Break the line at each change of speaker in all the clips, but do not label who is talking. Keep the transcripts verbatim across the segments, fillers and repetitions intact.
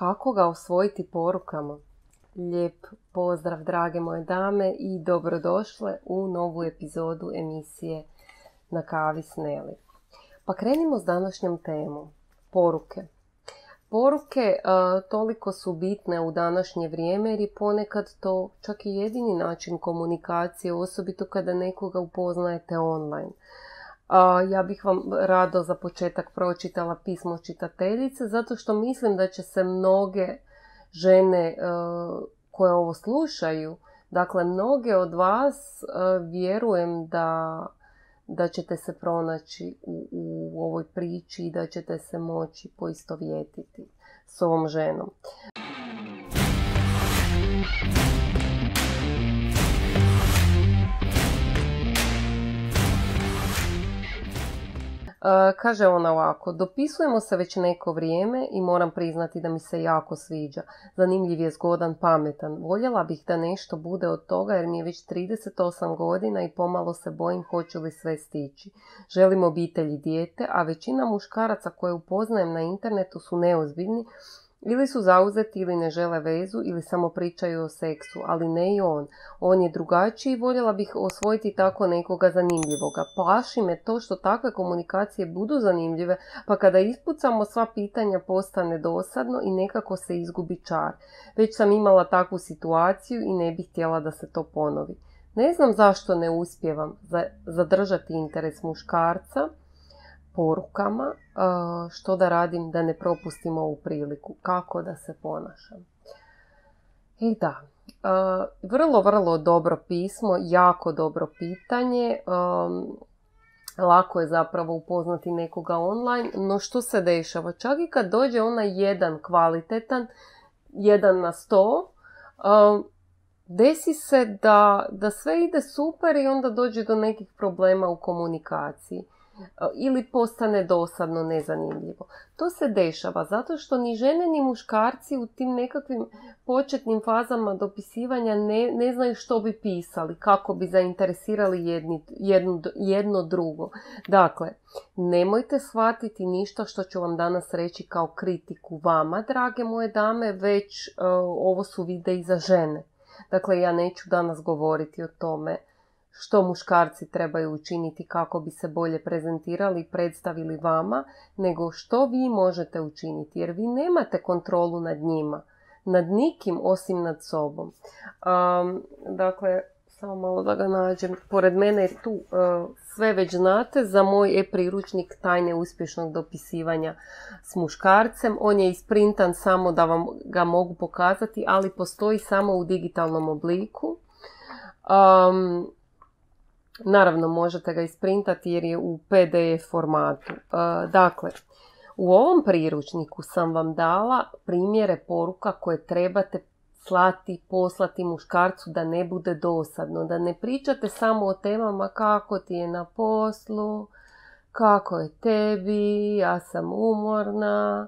kako ga osvojiti porukama. Lijep pozdrav drage moje dame i dobrodošle u novu epizodu emisije Na kavi s Neli. Pa krenimo s današnjom temom. Poruke. Poruke a, toliko su bitne u današnje vrijeme jer je ponekad to čak i jedini način komunikacije, osobito kada nekoga upoznajete online. A, ja bih vam rado za početak pročitala pismo čitateljice zato što mislim da će se mnoge žene a, koje ovo slušaju, dakle mnoge od vas a, vjerujem da da ćete se pronaći u, u ovoj priči i da ćete se moći poistovjetiti s ovom ženom. Uh, kaže ona ovako: dopisujemo se već neko vrijeme i moram priznati da mi se jako sviđa. Zanimljiv je, zgodan, pametan. Voljela bih da nešto bude od toga jer mi je već trideset osam godina i pomalo se bojim hoću li sve stići. Želim obitelj i dijete, a većina muškaraca koje upoznajem na internetu su neozbiljni, ili su zauzeti ili ne žele vezu ili samo pričaju o seksu, ali ne i on. On je drugačiji i voljela bih osvojiti tako nekoga zanimljivoga. Plaši me to što takve komunikacije budu zanimljive, pa kada ispucamo sva pitanja postane dosadno i nekako se izgubi čar. Već sam imala takvu situaciju i ne bih htjela da se to ponovi. Ne znam zašto ne uspijevam zadržati interes muškarca porukama, što da radim da ne propustim ovu priliku, kako da se ponašam. I da, vrlo, vrlo dobro pismo, jako dobro pitanje. Lako je zapravo upoznati nekoga online, no što se dešava? Čak i kad dođe onaj jedan kvalitetan, jedan na sto, desi se da, da sve ide super i onda dođe do nekih problema u komunikaciji. Ili postane dosadno, nezanimljivo. To se dešava zato što ni žene ni muškarci u tim nekakvim početnim fazama dopisivanja ne, ne znaju što bi pisali, kako bi zainteresirali jedni, jedno, jedno drugo. Dakle, nemojte shvatiti ništa što ću vam danas reći kao kritiku vama, drage moje dame, već uh, ovo su videi za žene. Dakle, ja neću danas govoriti o tome što muškarci trebaju učiniti kako bi se bolje prezentirali i predstavili vama, nego što vi možete učiniti, jer vi nemate kontrolu nad njima, nad nikim osim nad sobom. Um, dakle, samo malo da ga nađem. Pored mene je tu uh, sve već znate za moj e-priručnik Tajne uspješnog dopisivanja s muškarcem. On je isprintan samo da vam ga mogu pokazati, ali postoji samo u digitalnom obliku. Um, Naravno, možete ga isprintati jer je u P D F formatu. Dakle, u ovom priručniku sam vam dala primjere poruka koje trebate slati, poslati muškarcu da ne bude dosadno. Da ne pričate samo o temama kako ti je na poslu, kako je tebi, ja sam umorna,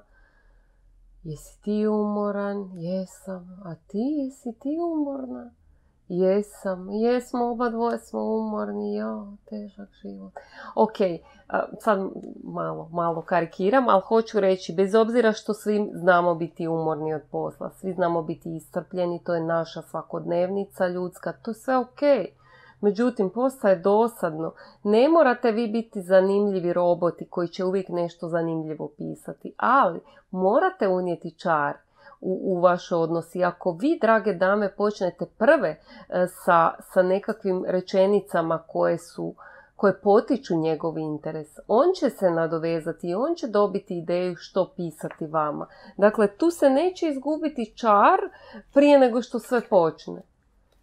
jesi ti umoran, jesam, a ti jesi ti umorna? Jesam, jesmo, oba dvoje smo umorni, jo, težak život. Ok, sad malo, malo karikiram, ali hoću reći, bez obzira što svi znamo biti umorni od posla, svi znamo biti iscrpljeni, to je naša svakodnevnica ljudska, to je sve ok. Međutim, postaje dosadno. Ne morate vi biti zanimljivi roboti koji će uvijek nešto zanimljivo pisati, ali morate unijeti čar U, u vaš odnos. I ako vi, drage dame, počnete prve e, sa, sa nekakvim rečenicama koje su, koje potiču njegov interes, on će se nadovezati i on će dobiti ideju što pisati vama. Dakle, tu se neće izgubiti čar prije nego što sve počne.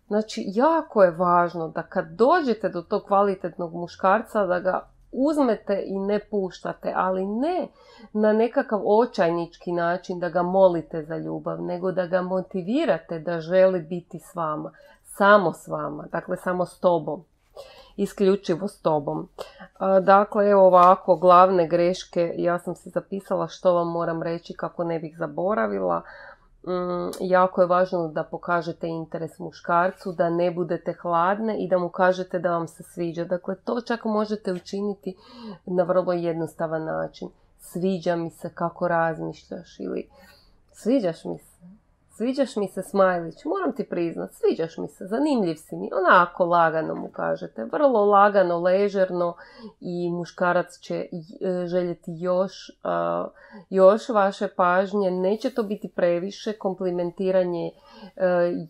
Znači, jako je važno da kad dođete do tog kvalitetnog muškarca, da ga uzmete i ne puštate, ali ne na nekakav očajnički način da ga molite za ljubav, nego da ga motivirate da želi biti s vama, samo s vama, dakle samo s tobom, isključivo s tobom. Dakle, evo ovako, glavne greške, ja sam se zapisala što vam moram reći kako ne bih zaboravila. Mm, jako je važno da pokažete interes muškarcu, da ne budete hladne i da mu kažete da vam se sviđa. Dakle, to čak možete učiniti na vrlo jednostavan način. Sviđa mi se kako razmišljaš ili sviđaš mi se. Sviđaš mi se, Smajlić, moram ti priznat, sviđaš mi se, zanimljiv si mi. Onako lagano mu kažete, vrlo lagano, ležerno i muškarac će željeti još, uh, još vaše pažnje. Neće to biti previše, komplimentiranje uh,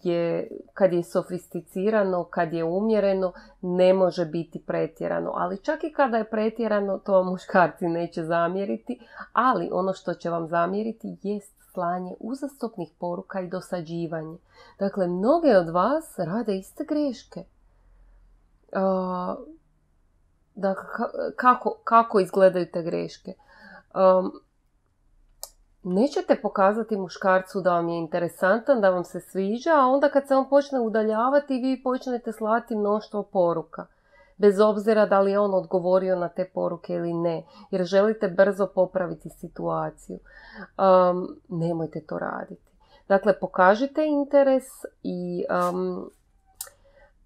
je, kad je sofisticirano, kad je umjereno, ne može biti pretjerano. Ali čak i kada je pretjerano, to vam muškarci neće zamjeriti, ali ono što će vam zamjeriti jest slanje uzastopnih poruka i dosađivanje. Dakle, mnoge od vas rade iste greške. Uh, dakle, kako, kako izgledaju te greške? Um, nećete pokazati muškarcu da vam je interesantan, da vam se sviđa, a onda kad se on počne udaljavati, vi počnete slati mnoštvo poruka. Bez obzira da li je on odgovorio na te poruke ili ne, jer želite brzo popraviti situaciju. Um, nemojte to raditi. Dakle, pokažite interes i um,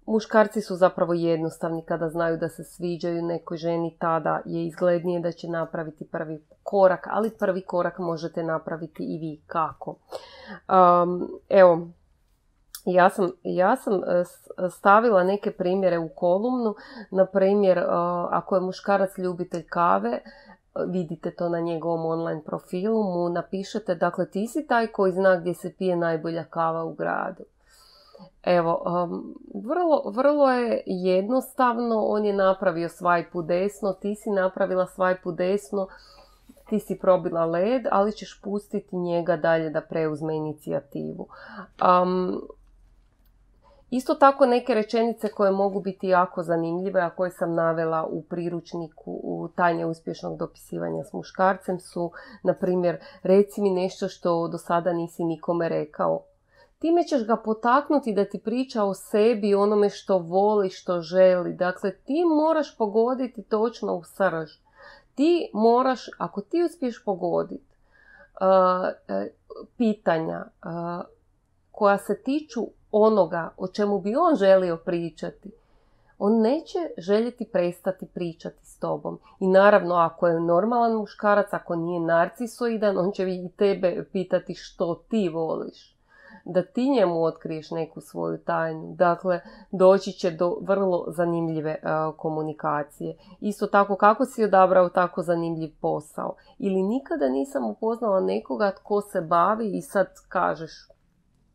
muškarci su zapravo jednostavni kada znaju da se sviđaju nekoj ženi, tada je izglednije da će napraviti prvi korak, ali prvi korak možete napraviti i vi. Kako? Um, evo, Ja sam, ja sam stavila neke primjere u kolumnu. Na primjer, ako je muškarac ljubitelj kave, vidite to na njegovom online profilu, mu napišete, dakle, ti si taj koji zna gdje se pije najbolja kava u gradu. Evo, um, vrlo, vrlo je jednostavno, on je napravio swipe u desno, ti si napravila swipe u desno, ti si probila led, ali ćeš pustiti njega dalje da preuzme inicijativu. Um, Isto tako neke rečenice koje mogu biti jako zanimljive, a koje sam navela u priručniku u Tajne uspješnog dopisivanja s muškarcem su, na primjer, reci mi nešto što do sada nisi nikome rekao. Time ćeš ga potaknuti da ti priča o sebi, onome što voli, što želi. Dakle, ti moraš pogoditi točno u srž. Ti moraš, ako ti uspiješ pogoditi uh, uh, pitanja uh, koja se tiču onoga o čemu bi on želio pričati, on neće željeti prestati pričati s tobom. I naravno, ako je normalan muškarac, ako nije narcisoidan, on će i tebe pitati što ti voliš. Da ti njemu otkriješ neku svoju tajnu. Dakle, doći će do vrlo zanimljive uh, komunikacije. Isto tako, kako si odabrao tako zanimljiv posao? Ili nikada nisam upoznala nekoga tko se bavi i sad kažeš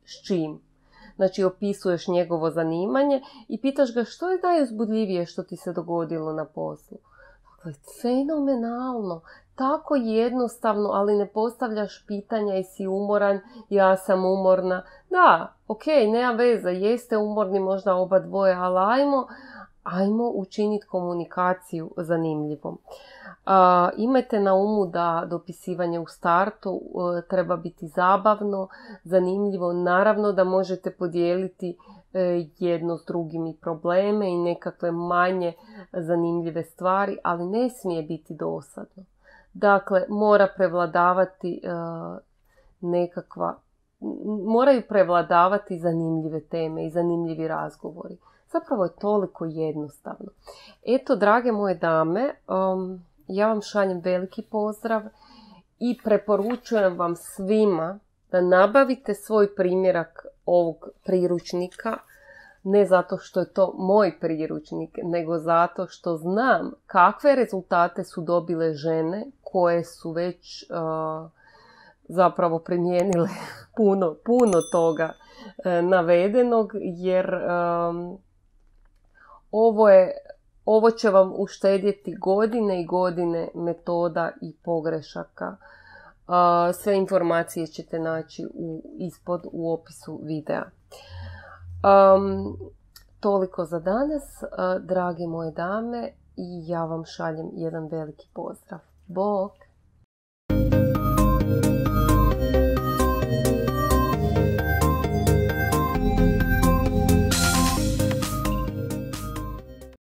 s čim? Znači, opisuješ njegovo zanimanje i pitaš ga što je najuzbudljivije što ti se dogodilo na poslu. Dakle, fenomenalno, tako jednostavno, ali ne postavljaš pitanja i si umoran, ja sam umorna. Da, ok, nema veze, jeste umorni možda oba dvoje, ali ajmo, ajmo učiniti komunikaciju zanimljivom. Uh, imajte na umu da dopisivanje u startu uh, treba biti zabavno, zanimljivo. Naravno da možete podijeliti uh, jedno s drugim i probleme i nekakve manje zanimljive stvari, ali ne smije biti dosadno. Dakle, mora prevladavati uh, nekakva, moraju prevladavati zanimljive teme i zanimljivi razgovori. Zapravo je toliko jednostavno. Eto, drage moje dame, um, ja vam šaljem veliki pozdrav i preporučujem vam svima da nabavite svoj primjerak ovog priručnika, ne zato što je to moj priručnik, nego zato što znam kakve rezultate su dobile žene koje su već uh, zapravo primijenile puno, puno toga uh, navedenog, jer um, ovo je Ovo će vam uštedjeti godine i godine metoda i pogrešaka. Sve informacije ćete naći u, ispod u opisu videa. Um, toliko za danas, drage moje dame, i ja vam šaljem jedan veliki pozdrav. Bok!